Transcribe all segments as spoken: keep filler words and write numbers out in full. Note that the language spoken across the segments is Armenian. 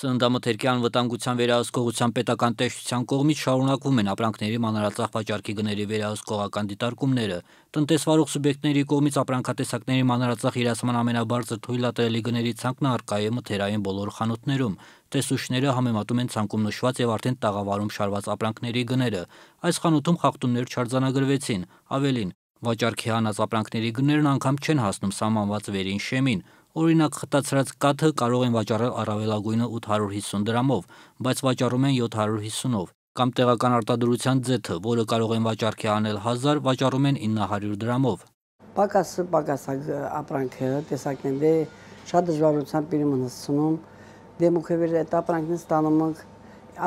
Սննդամթերքի անվտանգության վերահսկողության պետական տեսչության կողմից շարունակվում են ապրանքների մանրածախ վաճառքի գների վերահսկողական դիտարկումները։ Տնտեսվարող սուբյեկտների կողմից ապրանքատեսակների մանրածախ իրացման ամենաբարձր թույլատրելի գների ցանկն առկա է մթերային բոլոր խանութներում։ Տեսուչները համեմատում են ցանկում նշված եւ արդեն տաղավարում շարված ապրանքների գները։ Այս խանութում խախտումներ չարձանագրվեցին, ավելին, վաճառքի հանած ապրանքների գներն անգամ չեն հասնում սահմանված վերին շեմին։ Օրինակ, խտացրած կաթը կարող են վաճառել առավելագույնը ութ հարյուր հիսուն դրամով, բայց վաճառում են յոթ հարյուր հիսունով, կամ տեղական արտադրության ձեթը, որը կարող են վաճառքի անել հազար, վաճառում են ինը հարյուր դրամով։ Պակասը պակասակ ապրանքը տեսակն դե շատ դժվարությամբ իրեն հասցնում, դեմուքևեր այդ ապրանքն ստանում ենք,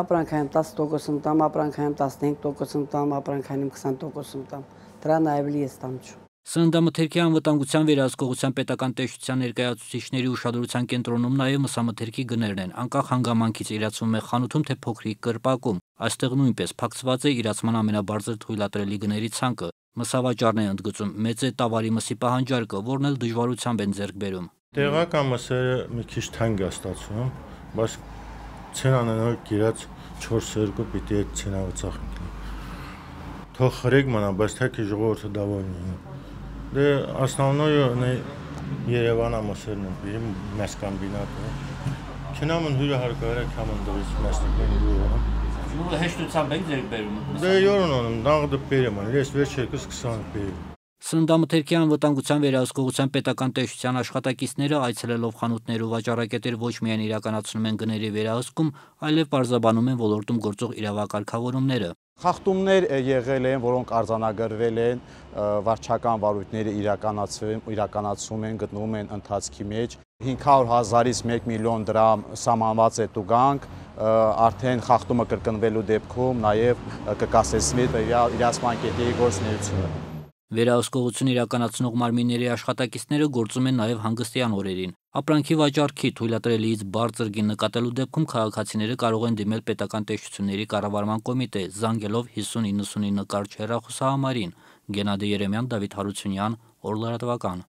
ապրանքային տասը տոկոս ընտամ, ապրանքային տասնհինգ տոկոս ընտամ, ապրանքային քսան տոկոս ընտամ, դրա նաև լի է ստամչում։ Սննդամթերքի անվտանգության վերահսկողության պետական տեսչության ներկայացուցիչների ուշադրության կենտրոնում նաև մսամթերքի գներն են, անկախ հանգամանքից իրացվում է խանութում թե փոքրիկ կրպակում։ Այստեղ նույնպես փակցված է իրացման ամենաբարձր թույլատրելի գների ցանկը։ Մսավաճառն է ընդգծում, մեծ է տավարի մսի պահանջարկը, որն էլ դժվարությամբ են ձեռք բերում։ Տեղական մսերը մի քիչ թանկ է ստացվում, բայց ցենան գիրած չորս երկու պիտի այդ ցենավը ծախենք։ Թող խրեկ մնա, բայց թե ժողովուրդը դավոյնի։ Դե основное Երևանա մսերն են բերում մեծկամբինատը։ Քնամն հյուրը հարկարը կամն դրից մեծնիկն դուրը։ Նույնը հեշտությամբ եք ձեռք բերում։ Դե յորոնոնում դաղդը բերեմ, ես վերջերս քսան բերեմ։ Սննդամթերքի անվտանգության վերահսկողության պետական տեսչության աշխատակիցները այցելելով խանութներ ու վաճառակետեր ոչ միայն իրականացնում են գների վերահսկում, այլև պարզաբանում են ոլորտում գործող իրավակարգավորումները։ Խախտումներ եղել են, որոնք արձանագրվել են, վարչական վարույթները իրականացում են, գտնվում են ընթացքի մեջ։ հինգ հարյուր հազարից մեկ միլիոն դրամ սահմանված է տուգանք, արդեն խախտումը կրկնվելու դեպքում նաև կկասեցվի իրացման կետերի գործունեությունը։ Վերահսկողություն իրականացնող մարմինների աշխատակիցները գործում են նաև հանգստյան օրերին։ Ապրանքի վաճառքի թույլատրելիից բարձր գին նկատելու դեպքում քաղաքացիները կարող են դիմել պետական տեսչությունների կառավարման կոմիտե, զանգելով հիսուն իննսունինը կարճ հեռախոսահամարին։ Գենադի Երեմյան, Դավիթ Հարությունյան, Օր լրատվական։